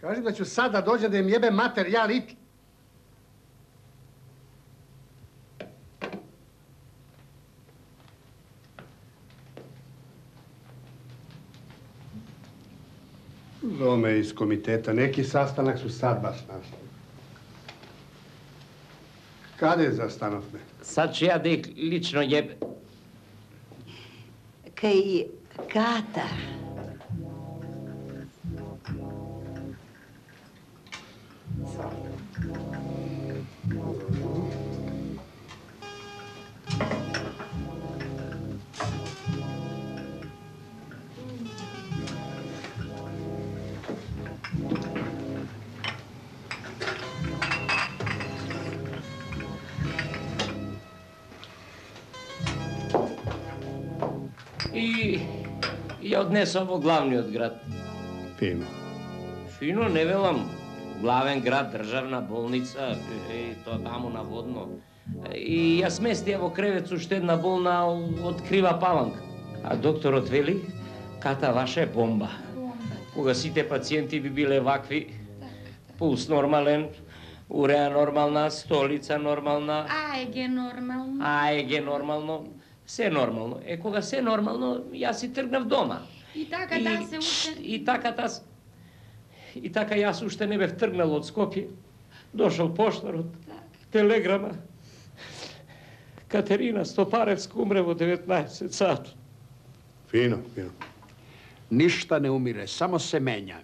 Кажи да ću sad da dođe da im jebe mater, ja lit. Zove iz komiteta, neki sastanak su sad baš našli. Kade zastanovne? Sad ću ja da ih lično jebe. Kaj Kata. И ја однесам во главниот град. Фино. Фино, не велам. Главен град, државна болница, тоа таму наводно. И ја сместија во кревет уште една болна од крива паланка. А докторот вели, Ката ваша е бомба. Кога сите пациенти би биле вакви, пулс нормален, уреа нормална, столица нормална. АЕГ нормално. АЕГ нормално. Се нормално. Кога се нормално, јас си тргнав дома. И така таа се уште... И така јас уште не бев тргнал од Скопје. Дошол поштарот, телеграма. Катерина Стопаревска умре во 19 сат. Фино, фино. Ништа не умире, само се менја.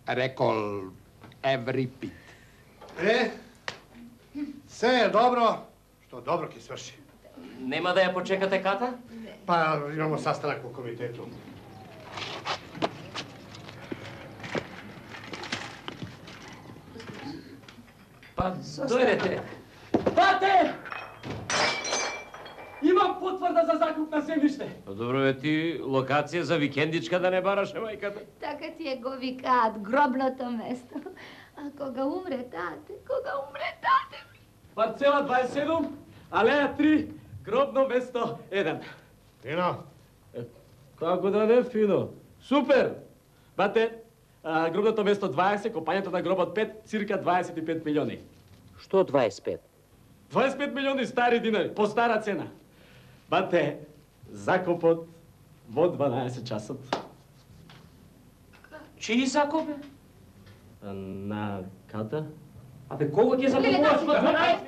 Рекол Еврипид. Се е добро, што добро ќе сврши. Нема да ја почекате Ката? Па имамо sastanak во комитету. Па дојдете. Бате! Имам потврда за закуп на земјиште. Добро бе ти, локација за викендичка да не бараше мајката. Така ти го викаат гробното место. А кога умре тате, Парцела 27, алеја 3, гробно место 1. Фино. Како да не фино? Супер! Бате, гробното место 20, копањето на гробот 5, цирка 25 милиони. Што 25? 25 милиони стари динари, по стара цена. Бате, закопот во 12 часот. Чиј закоп бе? На Ката? Абе, кого ќе закупуваш во 12?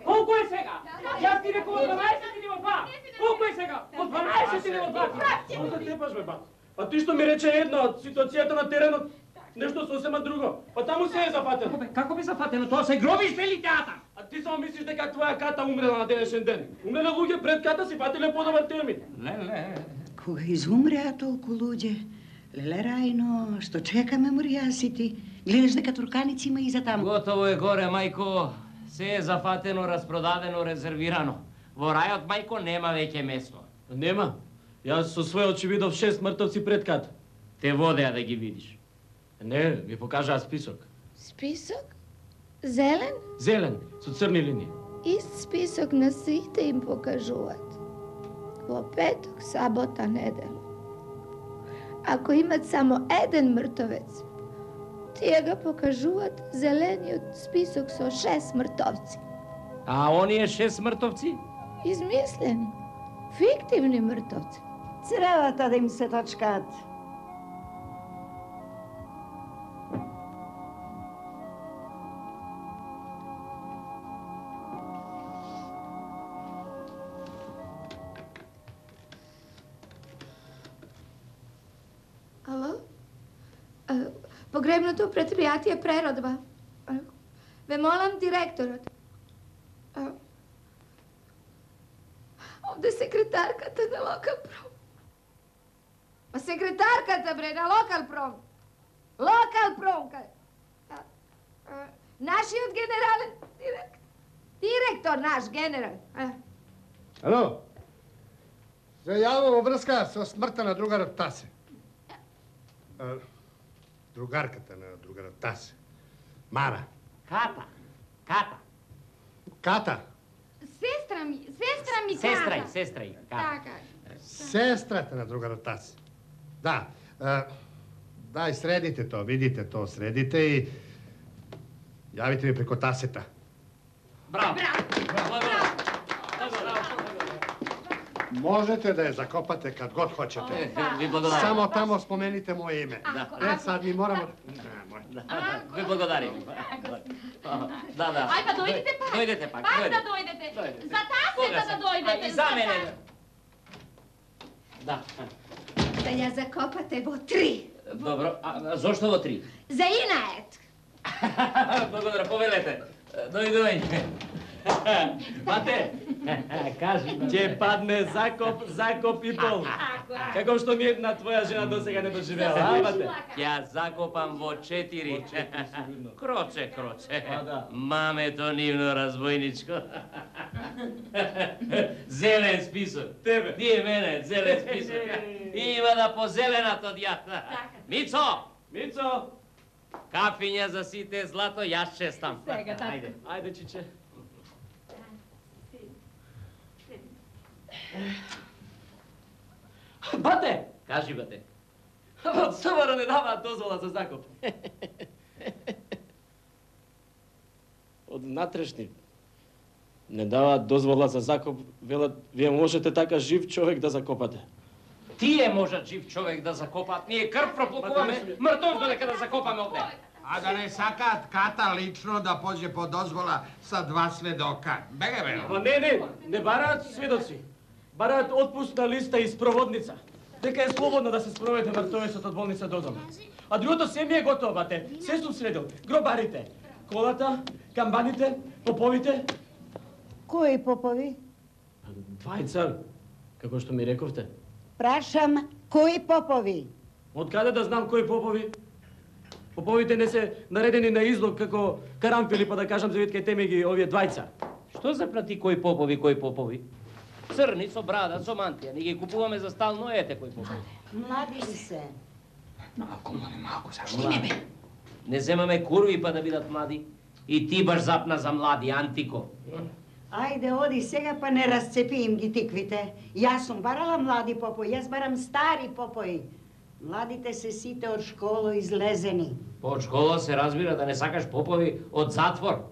Колку е сега? Јас ти реков 12 или во 2? Колку е сега? Во 12 или во 2? Што се тепаш, бе, бат? А ти што ми рече едно, од ситуацијата на теренот, нешто сосема друго. Па таму се е зафатено. Како би зафатено? Тоа се гробиште или театар? А ти само мислиш дека твоја Ката умрела на денешен ден. Умреле луѓе пред Ката си фатиле подобар термин. Леле. Кога изумреа толку луѓе, леле Рајно, што чека меморијасите? Гледаш дека турканици има и за таму. Готово е горе, мајко. Се е зафатено, распродадено, резервирано. Во рајот, мајко, нема веќе место. Нема. Јас со свој очи видов 6 мртовци пред Ката. Те водеа да ги видиш. Не, ми покажаа список. Список? Зелен? Зелен, со црни линии. Ист список на сите им покажуваат. Во петок, сабота, неделя. Ако имат само еден мртовец, тие го покажуваат зелениот список со 6 мртовци. А оние 6 мртовци? Измислени. Фиктивни мртовци. Цревата да им се точкаат. Ало? Погребното предпријатие преродба. Ве молам директорот. Овде секретарката на Локалпром. Па секретарката, бре, на Локалпром. Локалпром, нашиот генерален директор, наш генерал. Ало? Се јавам во врска со смртта на другарот Тасе. Другарката на другарот Тасе. Мара. Ката. Сестра ми Ката. Сестра и Ката. Така. Сестрата на другарот Тасе. Да. Дај, средите то, видите то, средите и јавите ми преко тасета. Браво! Можете да ја закопате кад год хочете. Ви благодарам. Само тамо спомените моје име. Сад ми морамо... Ви благодарим. Да. Ај, па дојдете пак. Дојдете пак. Пак да дојдете. За тасета да дојдете. И за мене. Да. Да ја закопате во 3. Добро, а зошто во 3? За инает. Благодарам, повелете. Дојди. Бате, Кажи. ќе падне закоп и пол. Како што ми една твоја жена досега не доживеала, а, бате? Ја закопам во 4. Кроце. А, да. Мамето нивно разбојничко. Зелен список. Тебе. Тие мене, зелен список. Има да позеленато дјата. Мицо! Кафиња за сите злато, јас честам. Сега, татко. Ајде. Ајде, чиче. Бате! Кажи, бате. Од СВР не даваат дозвола за закоп. Од внатрешни не даваат дозвола за закоп, велат, вие можете така жив човек да закопате. Тие можат жив човек да закопаат. Ние крв проплакуваме, мртов додека да закопаме овде. А да не сакаат Ката лично да поđe по дозвола са 2 сведока. Беге, бе. Ама не бараат сведоци. Бараат отпусна листа и спроводница. Дека е слободно да се спроведе мртовецот од болница до дома. А другото се ми е готово, бате. Се сум средил. Гробарите, колата, камбаните, поповите. Кои попови? Двајца, како што ми рековте. Прашам, кои попови? Од каде да знам кои попови? Поповите не се наредени на излог како карамфили, па да кажам за витке теме ги овие двајца. Што запрати кои попови? Црни со брада, со мантија. Ни ги купуваме за стално, ете кои попови. Млади ли се? Малку, зашто? Не земаме курви па да бидат млади. И ти баш запна за млади, Антико. Ајде, оди сега па не расцепи им ги тиквите. Јас сум барала млади попои, јас барам стари попои. Младите се сите од школа излезени. Од школа се разбира да не сакаш попови од затвор.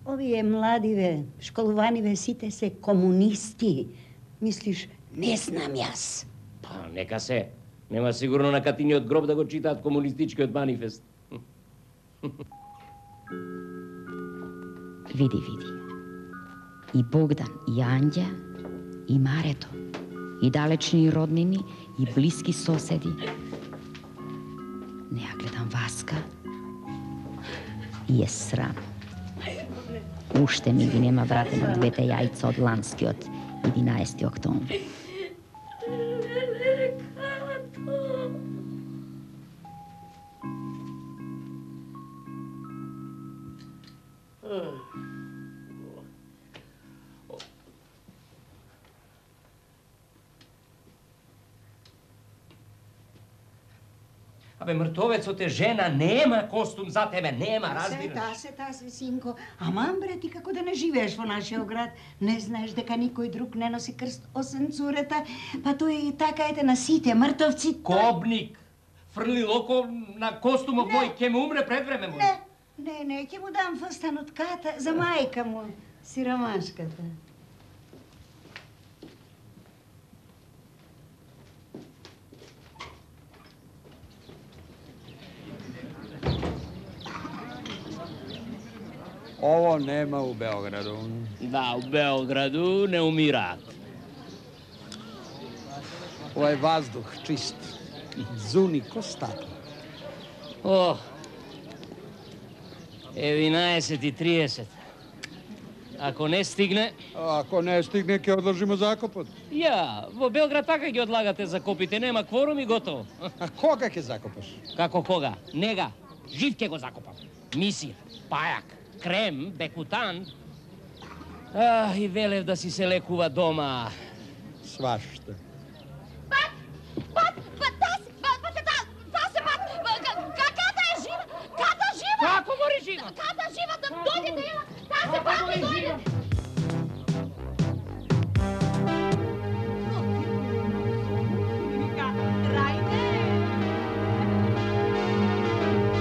Овие младиве, школуваниве, сите се комунисти. Мислиш, не знам јас. Па, нека се. Нема сигурно на Катиниот гроб да го читаат комунистичкиот манифест. Види. И Богдан, и Анѓа, и Марето, и далечни роднини, и блиски соседи. Не ја гледам Васка и е срам. Уште ми ги нема вратено 2 јајца од ланскиот 11 октомври. Абе, мртовецот е жена, нема костум за тебе, нема, разбираш? Тасе, синко. Аман, бре, ти како да не живееш во нашиот град? Не знаеш дека никој друг не носи крст освен цурета? Па тој така ете на сите мртовци. Кобник! Фрли око на костумот мој, ке му умре пред време мој. Не, ќе му дам фстан од Ката за мајка му, сиромашката. Ово нема у Београду. Да, у Београду не умираат. Овој ваздух чист. Зуни ко стата. О, е 11:30. Ако не стигне... Ако не стигне, ќе одржиме закопот. Ја, во Белград така ги одлагате закопите, нема кворум и готово. А кога ќе закопаш? Како кога? Нега, жив ќе го закопам. Мисија, пајак, крем, бекутан. И велев да си се лекува дома. Свашта. Ката е жива! Ката жива! Како мори жива? Ката жива, да дојдете, ела! Тасе, пати дојде!